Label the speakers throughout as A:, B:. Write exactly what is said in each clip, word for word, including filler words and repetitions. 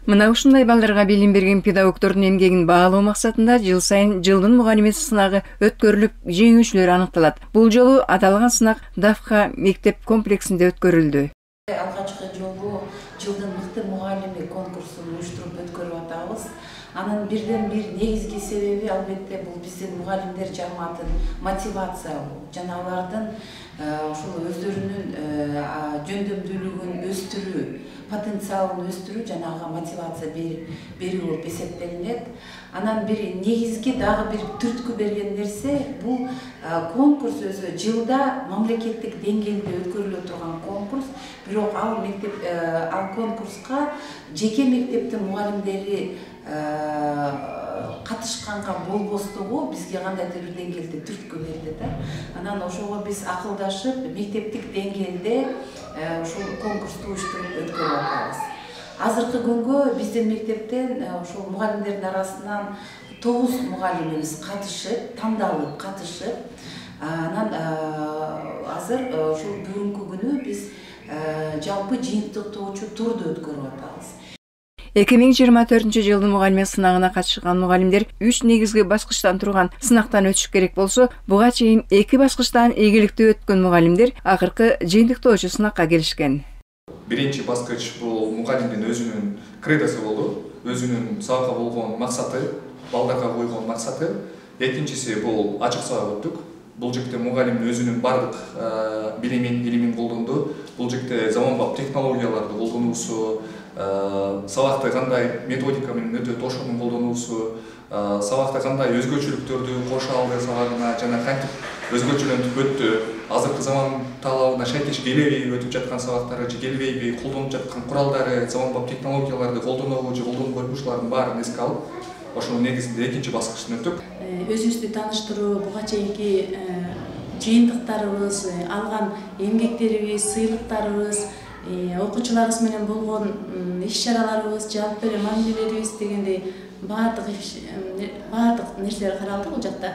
A: Мына ушундай балдарга билим берген педагогдордун эмгегин баалоо максатында жыл сайын жылдын мугалими сынагы өткөрүлүп, жеңүүчүлөр аныкталат. Бул жолу аталган сынак Дафха мектеп комплексинде өткөрүлдү.
B: Алгачкы жолу жылдын мыкты мугалими конкурсун уюштуруп өткөрүп атабыз. Анын бирден бир негизги себеби албетте бул биздин мугалимдер жамаатын мотивация жана алардын ошол өздөрүнүн жөндөмдүүлүгүн өстүрүү, потенциалын өстүрүү жана ага мотивация берүү болуп эсептелинет. Анан бир негизги дагы бир түрткү берген нерсе бул конкурс өзү жылда мамлекеттик деңгээлде өткөрүлө турган конкурс, бирок ал мектеп ал конкурска жеке мектептин мугалимдери катышканга болбостугу бизге кандайдыр бир деңгээлде түрткү берди да. Анан ошого биз акылдашып мектептик деңгээлде ошол конкурсту уюштуруп өткөрүп атабыз. Азыркы күнгө биздин мектептен ошол мугалимдердин арасынан тогуз мугалимибиз катышып, тандалып катышып, анан азыр ошол бүгүнкү күнү биз жалпы жыйынтыктоочу турду өткөрүп атабыз.
A: эки миң жыйырма төртүнчү жылдын мугалими сынагына катышкан мугалимдер үч негизги баскычтан турган сынактан өтүш керек болсо, буга чейин эки баскычтан ийгиликтүү өткөн мугалимдер акыркы жыйынтыктоочу сынакка келишкен.
C: Биринчи баскыч бул мугалимдин өзүнүн кредосу болду, өзүнүн сабакка болгон максаты, балдарга койгон максаты. Экинчиси бул ачык сабак өттүк. Бул жерде мугалим өзүнүн бардык билимин, илимин колдонду. Бул жерде заманбап технологияларды колдонуусу, сабакты кандай методика менен өтөт ошонун колдонуусу, сабакта кандай өзгөчөлүктөрдү кошо алды сабагына жана кантип өзгөчөлөнүп өттү, азыркы заман талабына шайкеш келеби өтүп жаткан сабактары же келбейби, колдонуп жаткан куралдары, заманбап технологияларды колдонобу же колдонуп койбушулардын баарын эске алып, ошонун негизинде экинчи баскычтан өттүк.
D: Өзүбүздү тааныштыруу, буга чейинки жыйынтыктарыбыз, алган эмгектерибиз, сыйлыктарыбыз, окуучуларыбыз менен болгон иш-чараларыбыз, жалпы эле мамилелерибиз дегендей баардык баардык нерселер каралды бул жакта.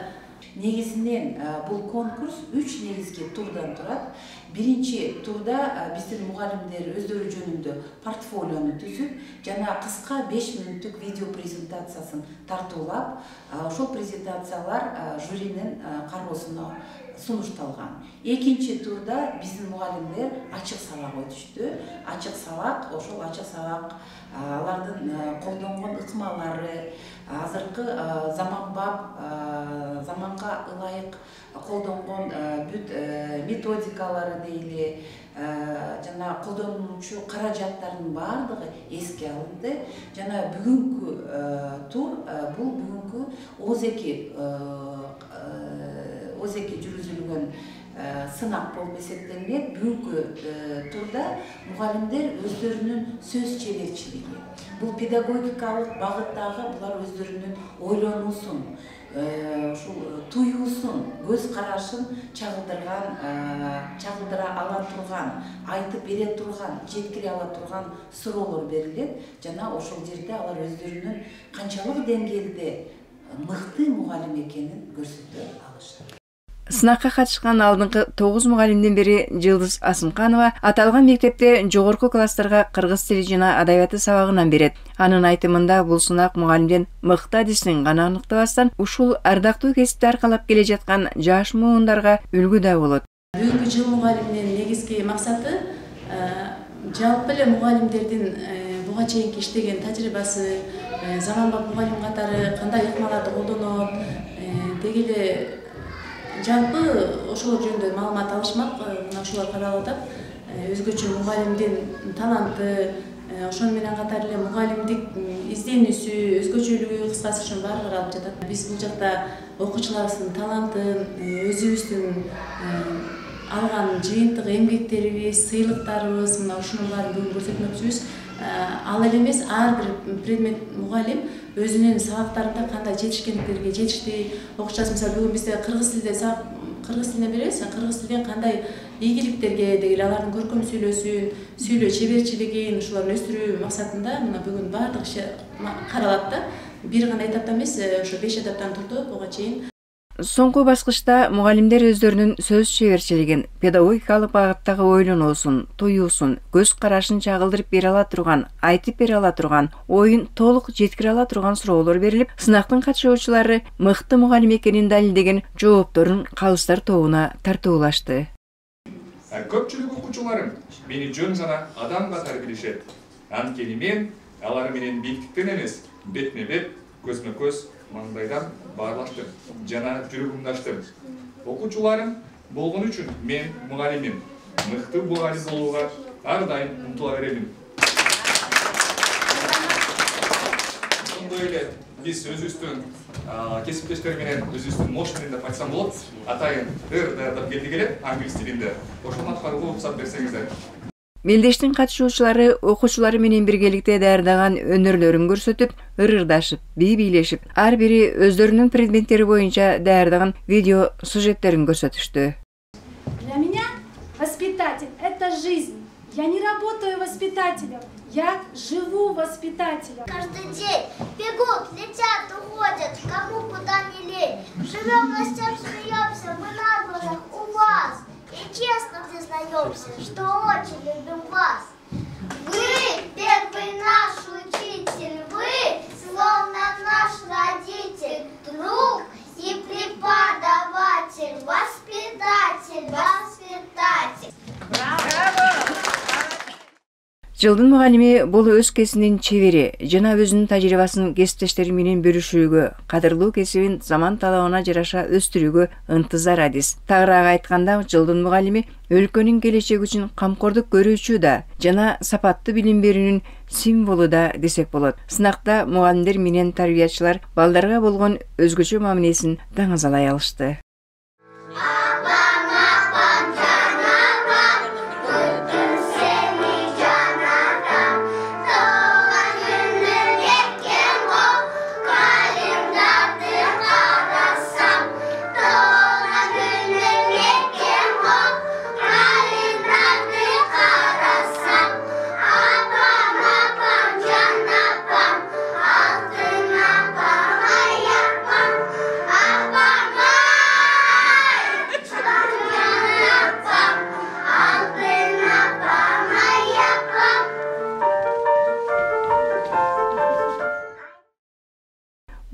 B: Негизинен бул конкурс үч негизги турдан турат. Биринчи турда биздин мугалимдер өздөрү жөнүндө портфолиону түзүп, жана кыска беш мүнөттүк видео презентациясын тартуулап, ошол презентациялар жюринин кароосуна сунушталган. Экинчи турда биздин мугалимдер ачык сабак өтүштү. Ачык сабак, ошол ачык сабак алардын колдонгон ыкмалары, азыркы заманбап, заманга ылайык колдонгон бүт методикалары дейли, жана колдонуучу каражаттардын баардыгы эске алынды. Жана бүгүнкү тур бул бүгүнкү озеки озеки жүргүзүлгөн сынак болуп эсептелинет. Бүгүнкү турда мугалимдер өздөрүнүн сөз чеберчилиги, бул педагогикалык багыттагы булар өздөрүнүн ойлонуусун, ушул туюусун, көз карашын чагылдырган, чагылдыра ала турган, айтып бере турган, жеткире ала турган суроолор берилет. Жана ошол жерде алар өздөрүнүн канчалык деңгээлде мыкты мугалим экенин көрсөтө алышат.
A: Сынакка катышкан алдыңкы тогуз мугалимдин бири Жылдыз Асымканова аталган мектепте жогорку класстарга кыргыз тили жана адабияты сабагынан берет. Анын айтымында бул сынак мугалимдин мыкты адисин гана аныктабастан, ушул ардактуу кесипти аркалап келе жаткан жаш муундарга үлгү да болот.
D: Бүгүнкү жыл мугалимдин негизги максаты жалпы эле мугалимдердин буга чейинки иштеген тажрыйбасы, заманбап мугалим катары кандай ыкмаларды колдонот, деги эле жалпы ошолор жөнүндө маалымат алышмак, мына ошолор каралып атат. Өзгөчө мугалимдин таланты, ошону менен катар эле мугалимдик изденүүсү, өзгөчөлүгү, кыскасы ошонун баары каралып жатат. Биз бул жакта окуучуларыбыздын талантын, өзүбүздүн алган жыйынтык эмгектерибиз, сыйлыктарыбыз, мына ушунун баарын бүгүн көрсөтмөкчүбүз. Ал эле эмес, ар бир предмет мугалим өзүнүн сабактарында кандай жетишкендиктерге жетишти. Окуучубуз мисалы бүгүн бизде кыргыз тилде сабак кыргыз тилинен беребиз, кыргыз тилден кандай ийгиликтерге деги эле алардын көркөм сүйлөөсүн, сүйлөө чеберчилигин ушуларды өстүрүү максатында мына бүгүн баардык иш каралат да. Бир гана этапта эмес, ошо беш этаптан турду буга чейин.
A: Соңку баскычта мугалимдер өздөрүнүн сөз чеберчилигин, педагогикалык багыттагы ойлонуусун, туюусун, көз карашын чагылдырып бере ала турган, айтып бере ала турган, оюн толук жеткире ала турган суроолор берилип, сынактын катышуучулары мыкты мугалим экенин далилдеген жоопторун калыстар тобуна тартуулашты.
C: Көпчүлүк окуучуларым мени жөн жана адам катары билишет. Анткени мен алар менен бийликтен эмес, бетме бет, көзмө көз, маңдайдан баарлаштым жана жүрөгүмдү ачтым. Окуучуларым болгон үчүн мен мугалимим. Мыкты мугалим болууга ар дайым умтула беремин. Ошондой эле биз өзүбүздүн кесиптештер менен өзүбүздүн мош менен деп айтсам болот. Атайын ыр даярдап келдик эле англис тилинде. Ошону аткарууга уруксат берсеңиздер.
A: Мелдештин катышуучулары окуучулары менен биргеликте даярдаган өнөрлөрүн көрсөтүп, ыр-ырдашып, бий-бийлешип, ар бири өздөрүнүн предметтери боюнча даярдаган видео сюжеттерин көрсөтүштү.
E: Для меня воспитатель – это жизнь. Я не работаю воспитателем, я живу воспитателем.
F: Каждый день бегут, летят, уходят, кому куда не лень. Живем на всем, смеемся, мы на глазах у вас. И честно признаемся, что очень любим вас. Вы первый наш учитель, вы словно наш родитель, друг и преподаватель, воспитатель, воспитатель.
E: Браво!
A: Жылдын мугалими бул өз кесибинин чебери жана өзүнүн тажрыйбасын кесиптештери менен бөлүшүүгө, кадырлуу кесибин заман талабына жараша өстүрүүгө ынтызар адис. Тагыраак айтканда, жылдын мугалими өлкөнүн келечеги үчүн камкордук көрүүчү да жана сапаттуу билим берүүнүн символу да десек болот. Сынакта мугалимдер менен тарбиячылар балдарга болгон өзгөчө мамилесин даңазалай алышты.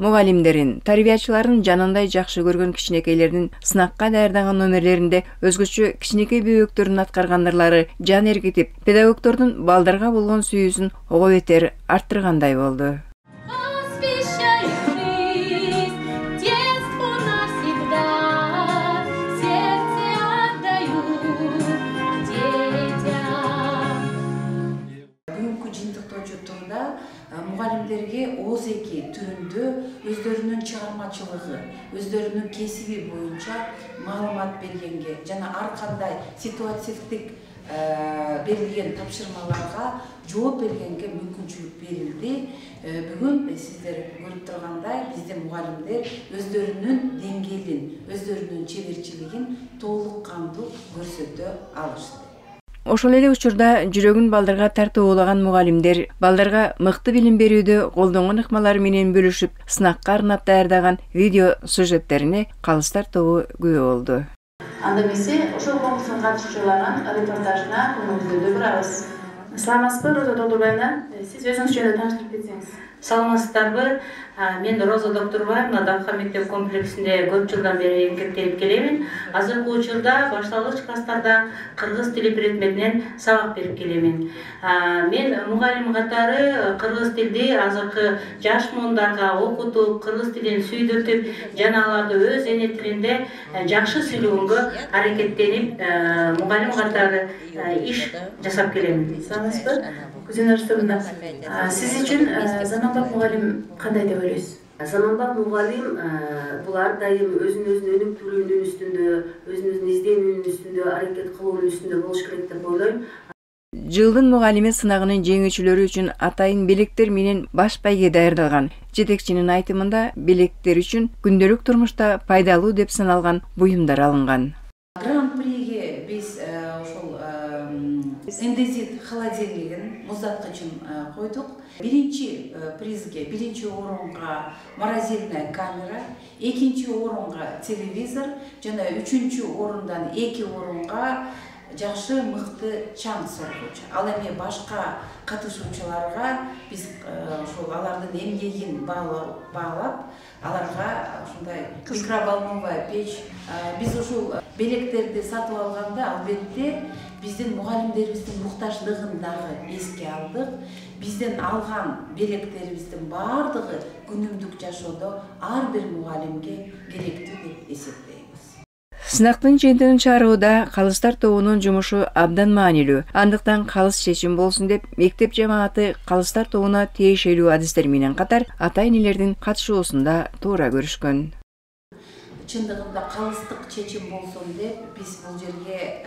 A: Мугалимдерин, тарбиячыларын жанындай жакшы көргөн кичинекейлердин сынакка даярдаган номерлеринде өзгөчө кичинекей бөбөктөрдүн аткаргандырлары жан эргитип, педагогдордун балдарга болгон сүйүүсүн ого бетер арттыргандай болду.
B: Мугалимдерге озеки түрүндө өздөрүнүн чыгармачылыгы, өздөрүнүн кесиби боюнча маалымат бергенге жана ар кандай ситуативдик берилген тапшырмаларга жооп бергенге мүмкүнчүлүк берилди. Бүгүн сиздер көрүп тургандай биздин мугалимдер өздөрүнүн деңгээлин, өздөрүнүн чеберчилигин толук кандуу көрсөтө алышты.
A: Ошол эле учурда жүрөгүн балдарга тартуулаган мугалимдер балдарга мыкты билим берүүдө колдонгон ыкмалары менен бөлүшүп, сынакка арнап даярдаган видео сюжеттерине калыстар тобу күбө болду.
D: Анда эмесе ошол конкурска катышуучулардын репортажына көңүлүңүздү бурабыз. Саламатсызбы, Роза Долдурбаевна? Сиз өзүңүз жөнүндө тааныштырып кетсеңиз.
G: Саламатсыздарбы? Мен Роза Доктурбаевна Давха мектеп комплексинде көп жылдан бери эмгектенип келемин. Азыркы учурда башталгыч класстарда кыргыз тили предметинен сабак берип келемин. Мен мугалим катары кыргыз тилди азыркы жаш муундарга окутуп, кыргыз тилин сүйдүртүп, жана аларды өз эне тилинде жакшы сүйлөгөнгө аракеттенип, мугалим катары иш жасап келемин.
D: Саламатсызбы? Күзүнөр Сырында. Сиз үчүн заманбап мугалим кандай деп ойлойсуз?
H: Заманбап мугалим бул ар дайым өзүн өзүн өнүктүрүүнүн үстүндө, өзүн өзүн изденүүнүн үстүндө, аракет кылуунун үстүндө болуш керек деп ойлойм.
A: Жылдын мугалими сынагынын жеңүүчүлөрү үчүн атайын белектер менен баш байге даярдалган. Жетекчинин айтымында белектер үчүн күндөлүк турмушта пайдалуу деп саналган буюмдар алынган.
B: Гран-приге биз ошол эндезит холодильнигин муздаткычын койдук. биринчи призге, биринчи орунга морозильная камера, экинчи орунга телевизор жана үчүнчү орундан эки орунга жакшы мыкты чаң соргучу. Ал эми башка катышуучуларга биз ошол алардын эмгегин баалап, аларга ушундай микроволновая печь, биз ушул белектерди сатып алганда албетте биздин мугалимдерибиздин муктаждыгын дагы эске алдык. Бизден алган белектерибиздин баардыгы күнүмдүк жашоодо ар бир мугалимге керектүү деп эсептейбиз.
A: Сынактын жыйынтыгын чыгарууда калыстар тобунун жумушу абдан маанилүү. Андыктан калыс чечим болсун деп мектеп жамааты калыстар тобуна тиешелүү адистер менен катар ата-энелердин катышуусунда туура көрүшкөн.
B: Чындыгында калыстык чечим болсун деп биз бул жерге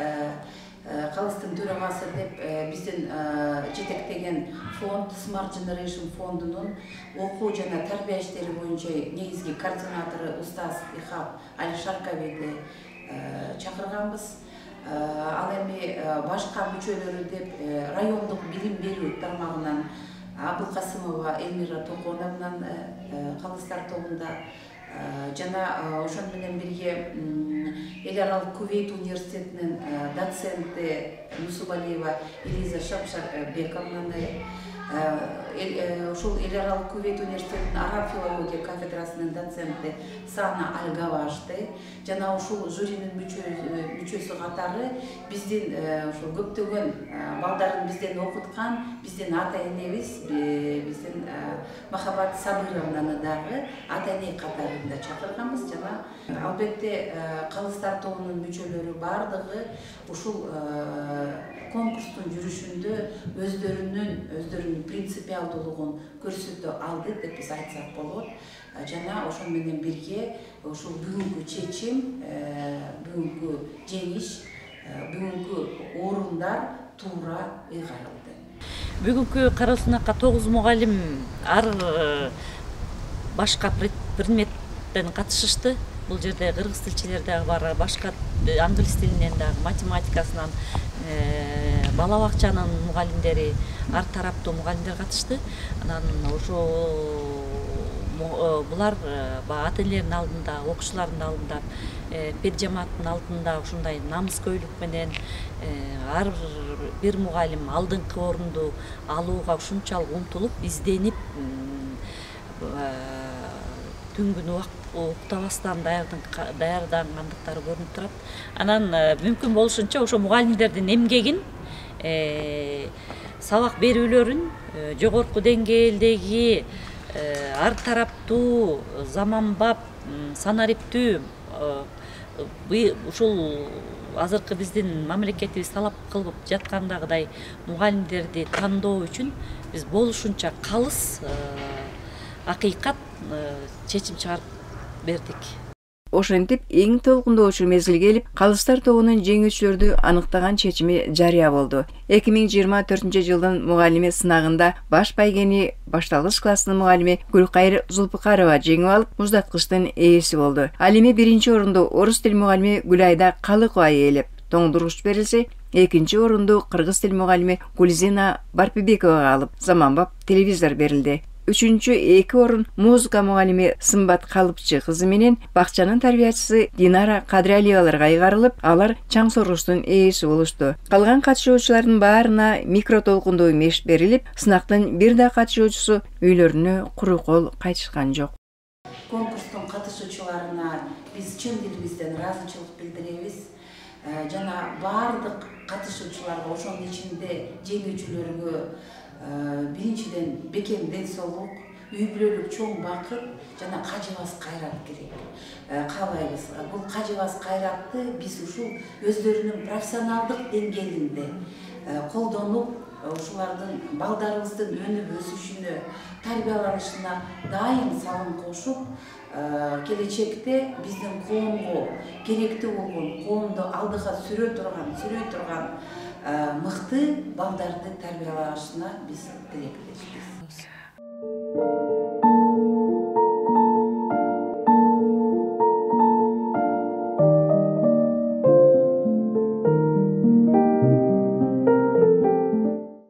B: калыстын төрагасы деп биздин жетектеген фонд Smart Generation фондунун окуу жана тарбия иштери боюнча негизги координатору устаз Ихап Алишарковиди чакырганбыз. Ал эми башка мүчөлөрү деп райондук билим берүү тармагынан Абылкасымова Элмира Токоновнан калыстар тобунда жана ошон менен бирге Эл аралык Кувейт университетинин доценти Нусубалиева Элиза Шапшарбековнан, ушул Эл аралык Кувейт университетинин араб филология кафедрасынын доценти Сана Альгавашты жана ушул жюринин мүчөсү катары биздин ушул көптөгөн балдарын бизден окуткан биздин ата-энебиз, биздин Махабат Сабыровнаны дагы ата-эне катарында чакырганбыз жана албетте калыстар тобунун мүчөлөрү баардыгы ушул конкурстун жүрүшүндө өздөрүнүн өздөрүнүн принципиалдуулугун көрсөтө алды деп биз айтсак болот. Жана ошон менен бирге ушул бүгүнкү чечим, бүгүнкү жеңиш, бүгүнкү орундар туура ыйгарылды.
I: Бүгүнкү кароо сынакка тогуз мугалим ар башка предметтен катышышты. Бул жерде кыргыз тилчилер дагы бар, башка англис тилинен дагы, математикасынан, бала бакчанын мугалимдери, ар тараптуу мугалимдер катышты. Анан ошо булар ата-энелердин алдында, окуучулардын алдында, педжамааттын алдында ушундай намыскөйлүк менен ар бир мугалим алдыңкы орунду алууга ушунчалык умтулуп, изденип, түн күнү уктабастан даярдангандыктары көрүнүп турат. Анан мүмкүн болушунча ошо мугалимдердин эмгегин, сабак берүүлөрүн жогорку деңгээлдеги ар тараптуу, заманбап, санариптүү ушул азыркы биздин мамлекетибиз талап кылып жаткандагыдай мугалимдерди тандоо үчүн биз болушунча калыс, акыйкат чечим чыгарып бердик.
A: Ошентип эң толкундоочу мезгил келип, калыстар тобунун жеңүүчүлөрдү аныктаган чечими жарыя болду. эки миң жыйырма төртүнчү жылдын мугалими сынагында баш байгени башталгыч класстын мугалими Гүлкайыр Зулпукарова жеңип алып, муздаткычтын ээси болду. Ал эми биринчи орунду орус тил мугалими Гүлайда Калыкова ээлеп, тоңдуруш берилсе, экинчи орунду кыргыз тил мугалими Гулзина Барпибековага алып, заманбап телевизор берилди. Үчүнчү эки орун музыка мугалими Сымбат Калыпчы кызы менен бакчанын тарбиячысы Динара Кадралиеваларга айгарылып, алар чаң соргучтун ээси болушту. Калган катышуучулардын баарына микро толкундуу меш берилип, сынактын бир да катышуучусу үйлөрүнө куру кол кайтышкан жок.
B: Конкурстун катышуучуларына биз чын дилибизден ыраазычылык билдиребиз. Жана баардык катышуучуларга, ошонун ичинде жеңүүчүлөргө биринчиден бекем ден соолук, үй бүлөлүк чоң бакыт жана кажыбас кайрат керек. Каалайбыз. Бул кажыбас кайратты биз ушул өздөрүнүн профессионалдык деңгээлинде колдонуп, ушулардын балдарыбыздын өнүп өсүшүнө, тарбияланышына дайым салым кошуп, келечекте биздин коомго керектүү болгон, коомду алдыга сүрө турган, сүрөй турган мыкты балдарды тарбиялашына биз тилектешпиз.